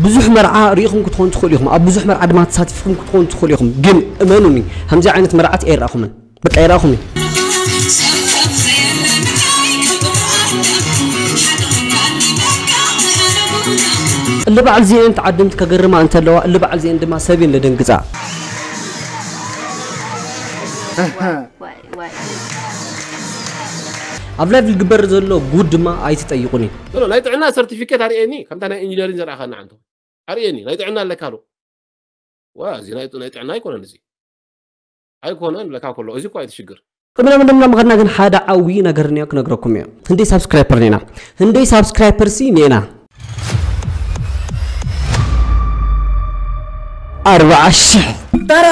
ብዙሕ መርዓ ርኢኹም ክትኾኑ ትኽእሉ ኢኹም፣ ኣብ ብዙሕ መርዓ ድማ ተሳቲፍኩም ክትኾኑ ትኽእሉ ኢኹም። ግን እመኑኒ፣ ከምዚ ዓይነት መርዓት ኣይረኣኹምን። በቃ ኣይረኣኹምን። እሊ በዓል ዚኤን ተዓደምቲ ከገርማ እንተለዋ፣ እሊ በዓል ዚኤን ድማ ሰብ እየን ለደንግጻ። ኣብ ላይቭ ዝግበር ዘሎ ጉድ ድማ ኣይትጠይቁኒ። ኖ፣ ኖ፣ ናይ ጥዕና ሰርቲፊኬት ኣርእየኒ፣ ከምታ ናይ ኢንጂነሪንግ ዘርኣኻና ዓንቶ። ኣርእየኒ፣ ናይ ጥዕና ኣለካ ዶ? ዋ፣ እዚ ናይ፣ ናይ ጥዕና ኣይኮነን እዚ። ኣይኮነን ለካ ከሎ፣ እዚ እኮ ኣይትሽግር። ቅድሚ ናብ እንደምና ምኸድና ግን ሓደ ዓብዪ ነገር እኒኦ ክነግረኩም እዮ። ህንደይ ሳብስክራይፐር ኔና። ህንደይ ሳብስክራይፐር ሲ ኔና። ኣርባዓ ሽሕ። ተራ!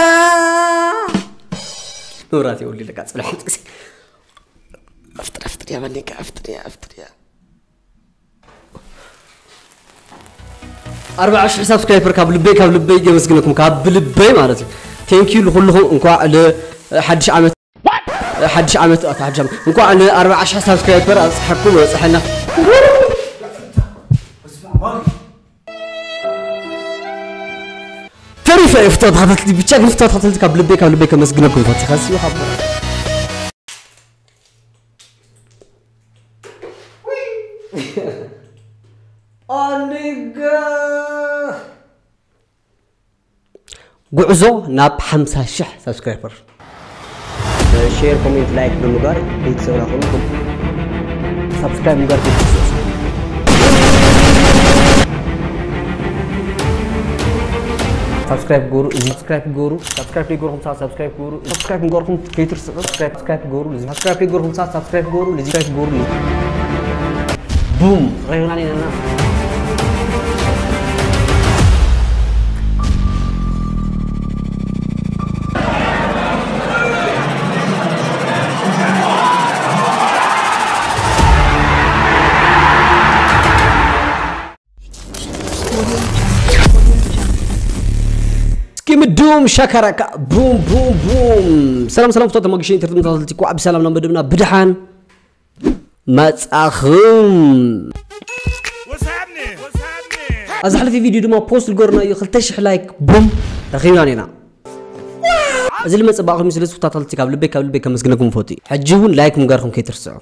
መብራት የውሊ ለካ ጽልሕ። ኣፍጥር፣ ኣፍጥር እያ፣ በኔካ፣ ኣፍጥር እያ፣ ኣፍጥር እያ። ኣርባዓ ሽሕ ሳብስክራይበር ካብ ልበይ፣ ካብ ልበይ የመስግነኩም፣ ካብ ልበይ ማለት እዩ። ቴንክ ዩ ንኹልኹም። እንኳዕ ለ-፣ ሓድሽ ዓመት፣ ሓድሽ ዓመት፣ ኣታ ሓድሽ ዓመት። እንኳዕ ለ ኣርባዓ ሽሕ ሳብስክራይበር ኣብጽሐኩም፣ ኣብጽሐና። ተሪፈ እየ ፍትወት ተኸታተልቲ፣ ብቻ ግን ፍትወት ተኸታተልቲ ካብ ልበይ፣ ካብ ልበይ ከመስግነኩም ፈቲኻ ሲዩ ካብ ኣንጋ ጉዕዞ ናብ ሓምሳ ሽሕ ሳብስክራይበር። ሼር፣ ኮሜንት፣ ላይክ ብምግባር ቤተሰብና ኩኑ ሳብስክራይብ ምግባር ቤተሰብ። ሳብስክራይብ ግበሩ፣ እዚ ሳብስክራይብ ግበሩ፣ ሳብስክራይብ ዘይገበርኩም ሰባት ሳብስክራይብ ግበሩ፣ ሳብስክራይብ ምግባርኩም ከይትርስዑ፣ ሳብስክራይብ፣ ሳብስክራይብ ግበሩ፣ እዚ ሳብስክራይብ ዘይገበርኩም ሰባት ሳብስክራይብ ግበሩ፣ እዚ ሳብስክራይብ ግበሩ። ቡም! ረኺብና ኔና። እስኪ ምዱም ሻካራካ ቡም ቡም ቡም። ሰላም ሰላም ፍቶት ተመግሽን ትርትም ተኸታተልቲ፣ ኳዕ ብሰላም ናብ መደብና ብድሓን መጻኹም። What's happening? What's happening? ኣብ ዝሓለፈ ቪድዮ ድማ ፖስት ዝገርናዮ ክልተ ሽሕ ላይክ ቡም ረኺብና ኔና። እዚ ልመጽእ ባእኹም ስለ ዝፍታተልቲ ካብ ልበይ ካብ ልበይ ከመስግነኩም ፈቱ። ሕጂ እውን ላይክ ምግባርኩም ከይትርስዑ።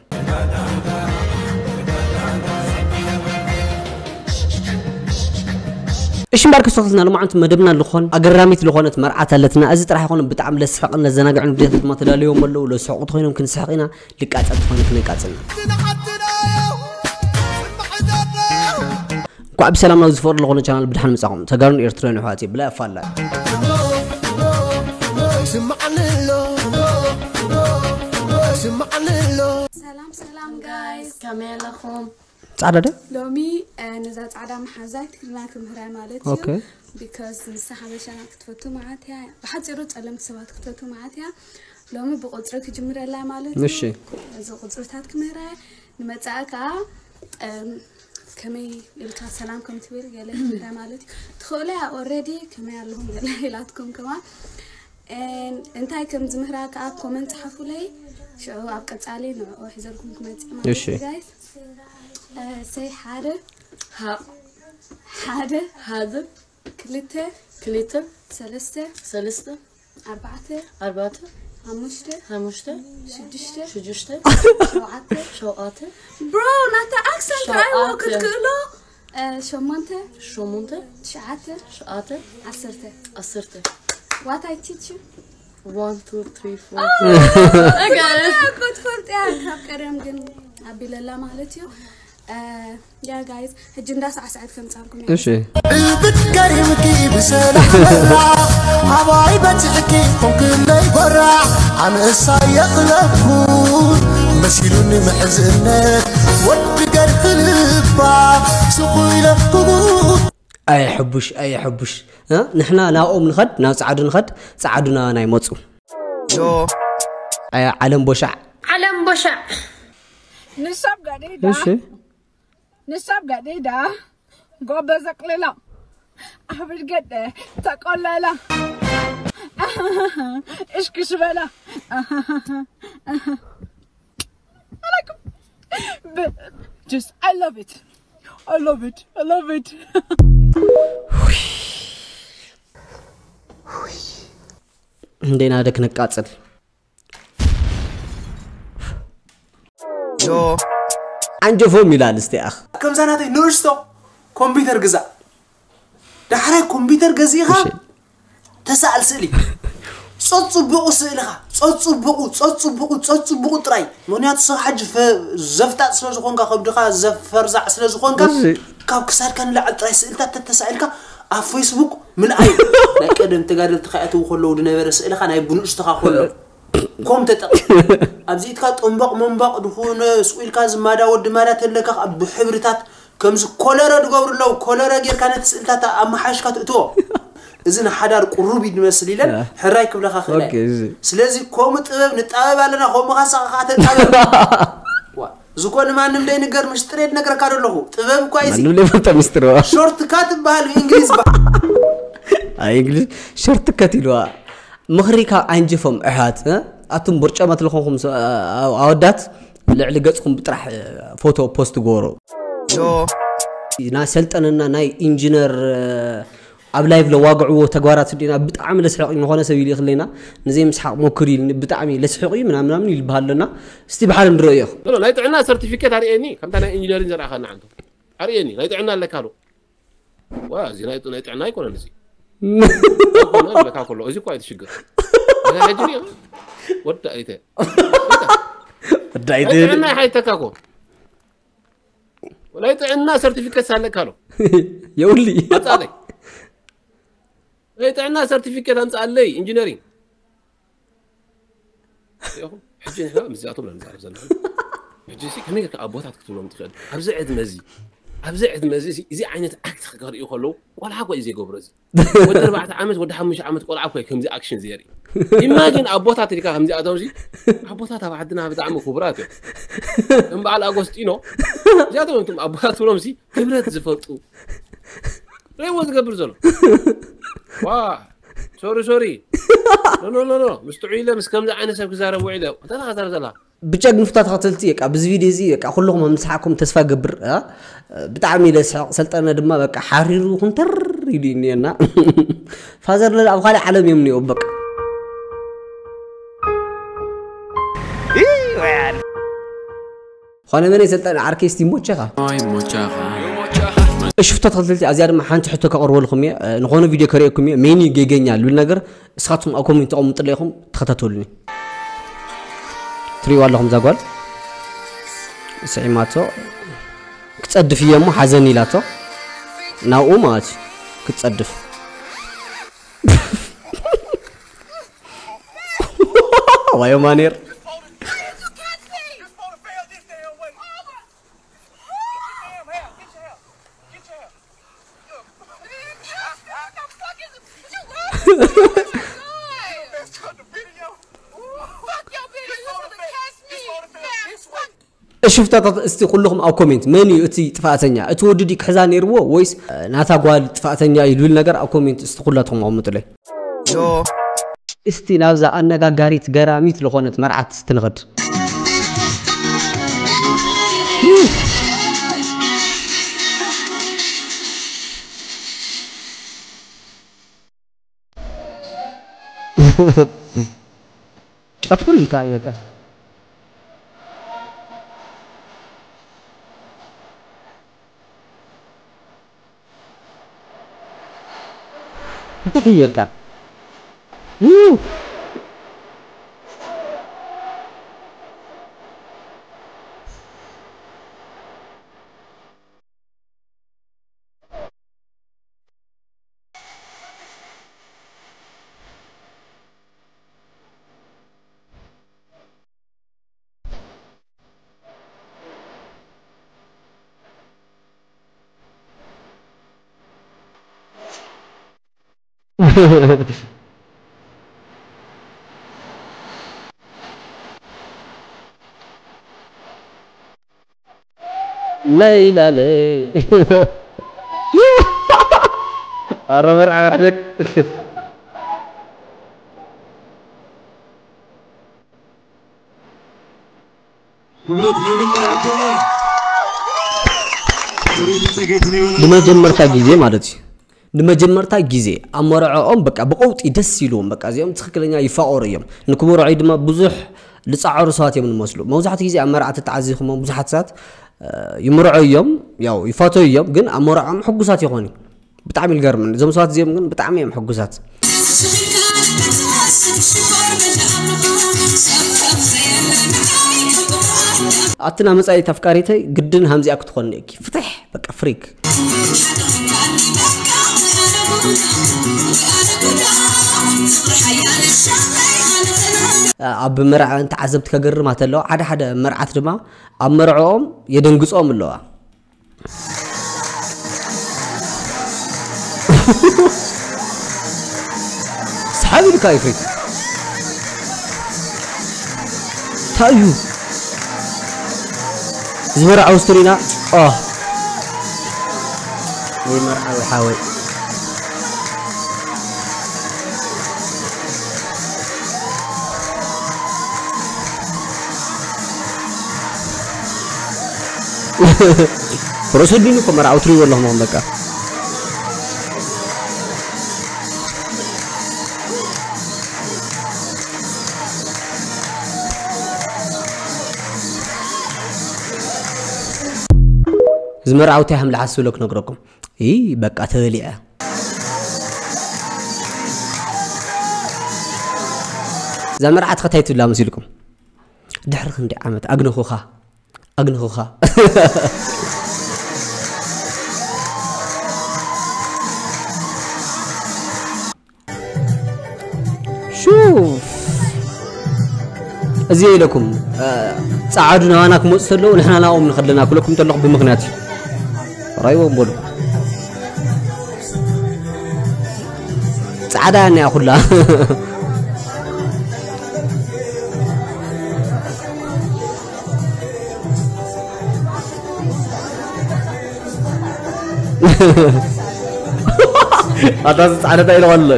እሺ እምበኣር ክስተክልና ልማዓንቲ መደብና ልኾን ኣገራሚት ልኾነት መርዓት ኣለትና። እዚ ጥራሕ ይኾነ ብጣዕሚ ለስሕቕን ለዘናግዕን ቪድዮታት ድማ ተዳልዮም ኣለዉ። ለስሕቑ ተኾይኖም ክንስሕቕ ኢና፣ ልቃጸል ተኾይኑ ክነቃጽልና። እንኳዕ ብሰላም ናብ ዝፈሩ ልኾነ ቻናል ብድሓን ምጻኹም። ተጋሩን ኤርትራውያን ኣሕዋት ብላይ ኣፋላይ። ሰላም ሰላም ጋይስ ከመይ ኣለኹም? ጻዕዳ ደ ሎሚ ነዛ ጻዕዳ መሓዛይ ትግርና ክምህራ ማለት እዩ። ኦኬ። ቢካዝ ንሳ ሓበሻና ክትፈቱ መዓት እያ። ብሓፂሩ ጸለምቲ ሰባት ክትፈቱ መዓት እያ። ሎሚ ብቁፅሪ ክጅምረላ ማለት እዩ። እሺ። እዚ ቁፅርታት ክምህራ እየ። ንመጻኢ ከዓ እም፣ ከመይ ኢልካ ሰላም ከም ትብል ገለ ክምህራ ማለት እዩ። ትኽእሉ እያ ኦልሬዲ ከመይ ኣለኹም ገለ ኢላትኩም ከማን And እንታይ ከም ዝምህራ ከዓ ኮመንት ጸሓፉለይ። ሽዑ ኣብ ቀጻሊ ንዕኡ ሒዘልኩም ክመጽእ ማለት እሺ። እዩ ጋይስ። ሰይ ሓደ ሀ ሓደ ሀዘ ክልተ ክልተ ሰለስተ ሰለስተ ኣርባዕተ ኣርባዕተ ሓሙሽተ ሓሙሽተ ሽዱሽተ ሽዱሽተ ሸውዓተ ሸውዓተ ብሮ ናታ ኣክሰንት ራይዎ ሸውዓተ። ክትክእሎ እ፣ ሸሞንተ ሸሞንተ ትሽዓተ ሸዓተ ዓሰርተ ዓሰርተ What I teach you? One, two, three, four. እኮ ትፈልጥ እያ ካብ ቀደም ግን ኣቢለላ ማለት እዩ። ያ ጋይስ ሕጂ እንዳሳዕስዐት ከምፃልኩም እያ። እሺ ብትገሪምኪ ብሰላም ኣባይ በፅሕኪ ኮንክለይ ጎራ ኣነሳ የቕለብኩ መሲሉኒ ምሕዝነት ወዲ ገርፊ ልባ ስቑ ኢለኩ ኣየ ሕቡሽ ኣየ ሕቡሽ እ? ንሕና ናብኦም ንኸድ ናብ ፃዕዱ ንኸድ ፃዕዱ ናባና ይመፁ ኣየ ዓለም ቦሻዕ ዓለም ቦሻዕ ንሳብ ጋደይዳ እሺ ንሳብ ጋደይዳ ጎበ ዘቅልላ ኣህብድ ገደ ተቆለላ እሽክሽ በላ Just I love it. I love it. I love it. እንደና ደክ ነቃጽል። ዮ። ዓንጀፎም ይላል እስቲ ኣኽ። ከምዛ ናተይ ንእሽቶ ኮምፒውተር ግዛእ። ዳሕራይ ኮምፒውተር ገዚእኻ እሺ። ተሳኣል ስእሊ። ጸጽቡቑ ስእልኻ፣ ጸጽቡቑ፣ ጸጽቡቑ፣ ጸጽቡቑ ጥራይ። ምኽንያቱ ሰብ ሓጂ ፈ-፣ ዘፍጣጥ ስለ ዝኾንካ፣ ከብድኻ ዘፈርዛዕ ስለ ዝኾንካ፣ እሺ። ካብ ክሳድካ ንላዕሊ ጥራይ ስእልታት ተተሳኢልካ ኣብ ፌስቡክ ምልኣይ። ናይ ቀደም ተጋደልቲ ከኣትዉ ከለዉ ዝነበረ ስእልኻ ናይ ብንእሽቶኻ ከሎ። ኮም ተጠቕ-፣ ኣብዚ ኢድካ ጠምባቕ መንባቕ ድኹነ ስቑ ኢልካ ዝማዳ ወዲ ማዳ ተለካ ብሕብርታት ከምዚ ኮለረ ዝገብሩ ኣለዉ። ኮለረ ጌርካ ነቲ ስእልታት ኣመሓይሽካ ትእትዎ። እዚ ንሓዳር ቁሩብ እዩ ዝመስል ኢለን ያ። ሕራይ ክብለኻ ክእል እየ። ኦኬ፣ እዚ። ስለዚ ከምኡ ጥበብ ንጣበብ ኣለና፣ ከምኡ ኻሳኻ ኸዓ ተጣበብ። ዋ፣ እዚ እኮ ንማንም ደይንገር፣ ምሽጥር እየ ዝነግረካ ዘለኹ። ጥበብ እኳ እዩ እዚ። ማንም ዘይፈልጦ ሚስጥር እዋ። ሾርት ካት ትበሃል ብእንግሊዝ ባ-፣ ኣይ፣ እንግሊዝ ሾርት ከት ኢልዋ። ምኽሪ ካብ ዓንጀፎም ኣሕዋት፣ እ? ኣቱም ቦርጫማት ዝኾንኩም ሰ-፣ ኣ-፣ ኣወዳት፣ ልዕሊ ገጽኩም ብጥራሕ፣ እ፣ ፎቶ ፖስት ግበሩ። ናይ ሰልጠነና ናይ ኢንጂነር፣ እ፣ ኣብ ላይቭ ለዋግዕዎ ተግባራት እንዲና ብጣዕሚ ለስሕቕ እዩ። ዝኾነ ሰብ ይልእኽለና፣ ንዘይ ምስሓቕ ሞክር ኢልኒ፣ ብጣዕሚ ለስሕቕ እዩ ምናምን ምናምን ይልበሃል ኣለና። እስቲ ብሓደ ንርእዮ። ኖ፣ ኖ፣ ናይ ጥዕና ሰርቲፊኬት ኣርእየኒ፣ ከምታ ናይ ኢንጂነሪንግ ዘርኣኻና ዓንቶ። ኣርእየኒ፣ ናይ ጥዕና ኣለካ ዶ? ዋ፣ እዚ ናይ፣ ናይ ጥዕና ኣይኮነን እዚ። ኣይኮነን፣ ለካ ከሎ፣ እዚ እኮ ኣይትሽግር። እዚ ሕጂ ሪኦ፣ ወዲ ኣይተ። ወዲ ኣይተ። ናይ ጥዕና ይሓይተካ እኮ። ናይ ጥዕና ሰርቲፊኬት ሳለካ ኣሎ። የውሊ። ኣምጻለይ። ናይ ጥዕና ሰርቲፊኬት ኣምጻለይ፣ ኢንጂነሪንግ። ሪኢኹም? ሕጂ ንሕና ምስዚኣቶም ኢና ንዛረብ ዘለና። ሕጂ ሲ ከመይ ጌርካ ኣቦታት ክትብሎም ትኽእል? ኣብዚ ዕድመ እዚ፣ ኣብዚ ዕድመ እዚ፣ እዚ ዓይነት ኣክት ክርእዩ ከለዉ፣ ቆልዓ እኮ እዩ ዘይገብሮ እዚ። ወዲ ኣርባዕተ ዓመት፣ ወዲ ሓሙሽተ ዓመት ቆልዓ እኮ እዩ ከምዚ ኣክሽን ዘርኢ። ኢማጂን ኣቦታት ኢልካ ከምዚኣቶም ሲ፣ ኣቦታት ኣብ ዓድና ብጣዕሚ ክቡራት እዮም። ከም በዓል ኣጎስጢኖ፣ እዚኣቶም እዮም እቶም ኣቦታት ትብሎም ሲ፣ ክብረት ዝፈልጡ። ርእይዎ ዝገብር ዘሎ። ዋ፣ ሶሪ፣ ሶሪ። ኖ፣ ኖ፣ ኖ፣ ኖ። ምስ ጥዑይ ኢለ ምስ ከምዚ ዓይነት ሰብ ክዛረብ ውዒለ። እንታይ ኢኻ ትዛረብ ዘለኻ? ብጀግንፍታ ተኸተልቲ፣ በቃ፣ ብዚ ቪድዮ እዚ፣ በቃ፣ ኩልኹም ከም ዝሰሓቕኩም ተስፋ ገብር፣ እ? ብጣዕሚ ኢለ ስሕቕ፣ ሰልጠነ ድማ፣ በቃ፣ ሓሪሩ ኩንተር ኢሉ እዩ እኒኤና። ፋዘር ለለ ኣብ ካልእ ዓለም እዮም እኒኦ፣ በቃ። ኾነ መን የሰልጠን ዓርከይ እስቲ ይሞቸኻ። ይሞቸኻ። እሺ፣ ፍቶ ተኸተልቲ፣ ኣዚኣ ድማ ሓንቲ ሕቶ ከቕርበልኩም እየ። እ፣ ንኾነ ቪድዮ ከርእየኩም እየ። መን እዩ ጌገኛ ልብል ነገር እስኻትኩም ኣብ ኮሜንት ተቐምጡለይ ኢኹም፣ ተኸታተሉኒ። ትሪእዋ ኣለኹም እዛ ጓል። ስዒማቶ። ክጸድፍ እየ እሞ ሓዘኒ ኢላቶ። ናብኡ ማለት እዩ። ክትጸድፍ። ዋዮ ማኔር። እሺ፣ ፍታታት እስቲ ኩልኹም ኣብ ኮሜንት መን እዩ እቲ ጥፋእተኛ? እቲ ወዲ ድዩ ክሕዛ ነይርዎ ወይስ፣ እ፣ ናታ ጓል ጥፋእተኛ እዩ ዝብል ነገር ኣብ ኮሜንት እስቲ ኩላትኹም ኣቕምጡለይ። እስቲ ናብዛ ኣነጋጋሪት ገራሚት ዝኾነት መርዓት እስቲ ንኸድ። ጨፍር እንታይ በቃ። እንታይ ይርካ? ለይላ ለይ። ኧረ መርዓ መርዓ። ብመጀመርታ ግዜ ማለት እዩ ንመጀመርታ ግዜ ኣብ መርዕኦም በቃ ብቐውጢ ደስ ኢልዎም፣ በቃ እዚኦም ትኽክለኛ ይፋቐሩ እዮም። ንክምርዑ ድማ ብዙሕ ዝጻዕሩ ሰባት እዮም ዝመስሉ። መብዛሕትኡ ግዜ ኣብ መርዓ ተተዓዚኹሞ ብዙሓት ሰባት ይምርዑ እዮም፣ ያው ይፋተዩ እዮም፣ ግን ኣብ መርዓኦም ሕጉሳት ይኾኑ። ብጣዕሚ ይገርም። እዞም ሰባት እዚኦም ግን ብጣዕሚ እዮም ሕጉሳት። ኣትና መጻኢት ኣፍቃሪተይ ግድን ሃምዚኣ ክትኾን እኪ ፍትሕ በቃ ፍሪክ። ኣብ መርዓ እንተ ዓዘብቲ ከገርማ ተለዋ ሓደ ሓደ መርዓት ድማ ኣብ መርዕኦም የደንግጾም ኣለዋ። ሰሓብ ኢልካ ይፍሪት። እንታይ እዩ? ዝመርዓዊ ስትሪና። ኦ። ወይ መርዓዊ ሓወይ። ፕሮሰዲን እኮ መርዓዊ ትሪእዎ ኣለኹም በቃ። እዚ መርዓውቲ ሃምልሓስ ዝብሎ ክነግረኩም። ይ በቃ ተበሊዐ። እዛ መርዓት ኸታይ ትብላ መሲልኩም? ድሕሪ ክንዲ ዓመት ኣግነኹኻ፣ ኣግነኹኻ። ሹፍ። እዚ ኢለኩም፣ እ፣ ጸዓዱ ናባና ክመጹ ተለዉ ንሕና ናብኦም ንኸድለና ክብለኩም ተለኹ ብምኽንያት እዩ። ራይዎም በሉ። ጻዕዳ እያ እኒኣ ኩላ። ኣታ ጻዕዳ እንታይ ኢልዋ ኣሎ?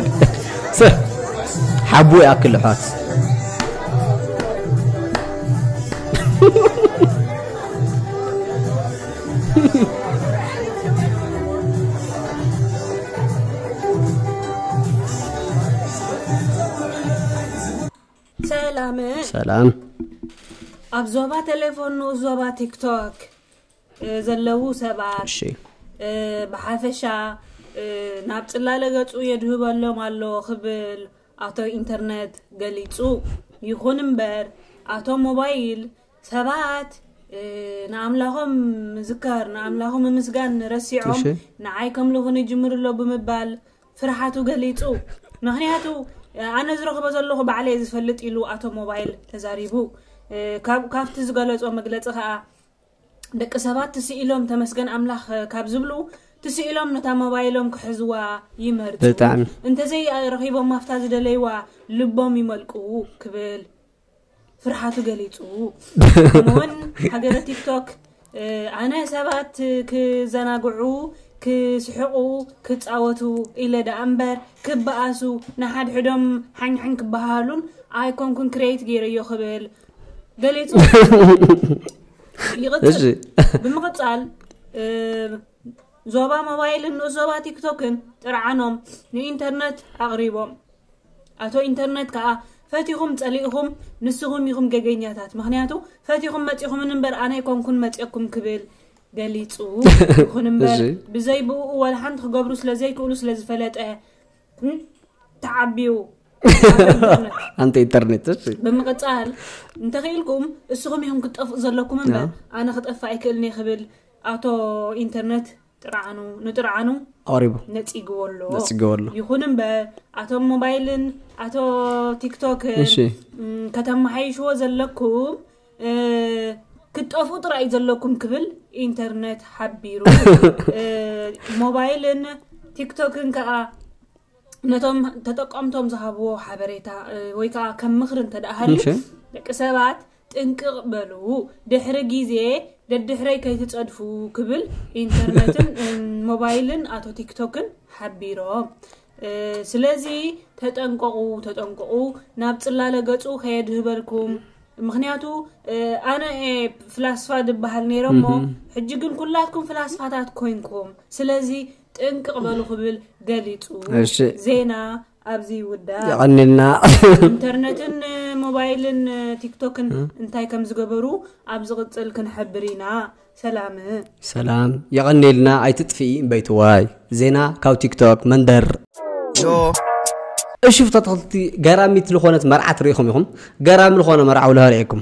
ሰ-፣ ሓቡ ይኣክል ኣሕዋት። ሰላም። ሰላም። ኣብ ዞባ ቴሌፎን ንኡስ ዞባ ቲክቶክ፣ እ፣ ዘለዉ ሰባት፣ እሺ። እ፣ ብሓፈሻ፣ እ፣ ናብ ጽላለ ገጹ የድህበሎም ኣሎ ክብል ኣቶ ኢንተርነት ገሊጹ። ይኹን እምበር፣ ኣቶ ሞባይል ሰባት፣ እ፣ ንኣምላኾም ምዝካር፣ ንኣምላኾም ምምስጋን ረሲዖም፣ እሺ። ንዓይ ከምልኹኒ ይጅምሩ ኣሎ ብምባል ፍርሓቱ ገሊጹ። ምኽንያቱ፣ ኣነ ዝረኽቦ ዘለኹ ባዕለይ ዝፈልጥ ኢሉ ኣቶ ሞባይል ተዛሪቡ። እ፣ ካብ-፣ ካብቲ ዝገለጾ መግለጺ ከኣ፣ ደቂ ሰባት ትስኢሎም ተመስገን ኣምላኽ ካብ ዝብሉ፣ ትስኢሎም ነታ ሞባይሎም ክሕዝዋ ይመርጹ። ብጣዕሚ። እንተዘይ ረኺቦም ኣብታ ዝደለይዋ ልቦም ይመልቁ ክብል ፍርሓቱ ገሊጹ። ከምኡውን ሃገረ ቲክቶክ፣ እ፣ ኣነ ሰባት ክዘናግዑ፣ ክስሕቑ፣ ክጻወቱ ኢለ ደኣ እምበር፣ ክበኣሱ፣ ንሓድሕዶም ሓኝሓኝ ክበሃሃሉን ኣይኮንኩን ክሬት ገይረዮ ክብል ገሊጹ። ይቕጽል። እሺ። ብምቕጻል፣ እ፣ ዞባ ሞባይልን ንኡስ ዞባ ቲክቶክን ጥርዓኖም ንኢንተርነት ኣቕሪቦም። ኣቶ ኢንተርነት ከኣ ፈቲኹም ጸሊእኹም ንስኹም ኢኹም ገገኛታት። ምኽንያቱ ፈቲኹም መጺኹምን እምበር ኣነ ኣይኮንኩን መጺኦኩም ክብል ገሊጹ። ይኹን እምበር እሺ። ብዘይ ብኡ ዋላ ሓንቲ ክገብሩ ስለ ዘይክእሉ ስለ ዝፈለጠ፣ እም፣ ተዓብዩ። ኣንተ ኢንተርነት፣ እሺ። ብምቕጻል፣ እንተኽኢልኩም እስኹም ኢኹም ክትጠፍኡ ዘለኩም እምበር፣ ያ። ኣነ ክጠፍእ ኣይክእልን እየ ክብል ኣቶ ኢንተርነት ጥርዓኑ፣ ንጥርዓኑ ኣቕሪቡ። ነጺግዎ ኣሎ። ነጺግዎ ኣሎ። ይኹን እምበር፣ ኣቶ ሞባይልን ኣቶ ቲክቶክን፣ እሺ። እም፣ ከተመሓይሽዎ ዘለኩም፣ እ፣ ክትጠፍኡ ጥራይ ዘለኩም ክብል ኢንተርነት ሓቢሩ። እ፣ ሞባይልን ቲክቶክን ከኣ ነቶም ተጠቀምቶም ዝሃብዎ ሓበሬታ፣ እ፣ ወይ ከኣ ከም ምኽሪ እንተ ደኣ ሃልዩ፣ እሺ። ደቂ ሰባት ጥንቅቕ በሉ፣ ድሕሪ ግዜ ደድሕረይ ከይትጸድፉ ክብል ኢንተርነትን፣ እ፣ ሞባይልን ኣቶ ቲክቶክን ሓቢሮም። እ፣ ስለዚ ተጠንቀቑ፣ ተጠንቀቑ፣ ናብ ጽላለ ገጹ ከየድህበልኩም። ምኽንያቱ፣ እ፣ ኣነ እየ ፍላስፋ ድበሃል ነይረ እሞ፣ እህ። ሕጂ ግን ኩላትኩም ፍላስፋታት ኮይንኩም። ስለዚ ጥንቅቕ በሉ ክብል ገሊጹ። እሺ። ዜና ኣብዚ ይውዳእ። የቐንልና። ኢንተርነትን ሞባይልን ቲክቶክን እንታይ ከም ዝገበሩ ኣብ ዝቕጽል ክንሕብር ኢና። ሰላም። ሰላም የቐንልና። ኣይትጥፍኢ እምበይትዋይ። ዜና ካብ ቲክቶክ መንደር። እሺ ፍታትክልቲ፣ ገራሚት ዝኾነት መርዓት ርኢኹም ኢኹም? ገራሚ ዝኾነ መርዓ ውላ ርኢኩም?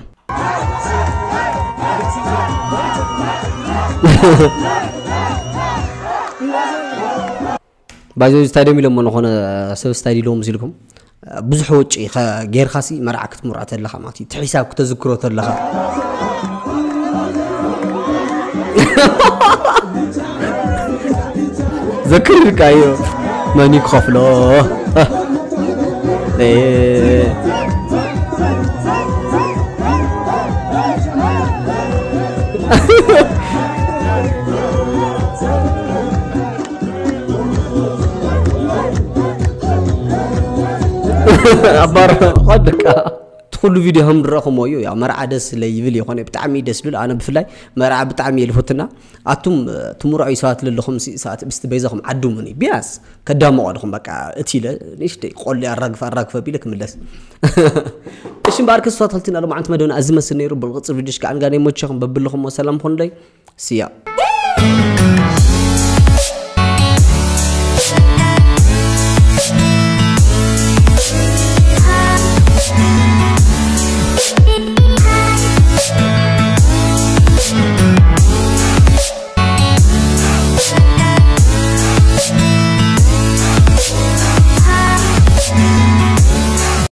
ባይዞ ስታዲየም ኢሎሞ ዝኾነ ሰብ ስታዲየም ኢሎሞ ሲልኩም ብዙሕ ወጪ ጌርካሲ መርዓ ክትምርዖ ተለኻ ማለት እዩ። እቲ ሒሳብ ክተዝክሮ ተለኻ ዘክርካ እዩ። መን ይክኸፍሎ? ኣባር ደቃ እቲ ኩሉ ቪድዮ ከም ዝረእኹሞ እዩ። ያው መርዓ ደስ ስለ ይብል ይኾነ ብጣዕሚ ደስ ዝብል። ኣነ ብፍላይ መርዓ ብጣዕሚ እየ ልፈትና። ኣቱም ትምርዑ ሰባት ለለኹም ሲ- ሰዓት ብስቲ በይዛኹም ዓዱሙኒ ቢያንስ ከዳምቑ ኣለኹም። በቃ እቲ ኢለ ንእሽተይ ቆሊ ኣራግፈ ኣራግፈ ቢለ ክምለስ። እሺ እምበኣር ክስታት ክልቲና ሎማዓንቲ መደብና እዚ መስል ነይሩ። ብንቕፅል ቪድዮሽ ከዓ ንጋና ይመቸኹም። በብለኹም ሰላም ኹንለይ። ስያ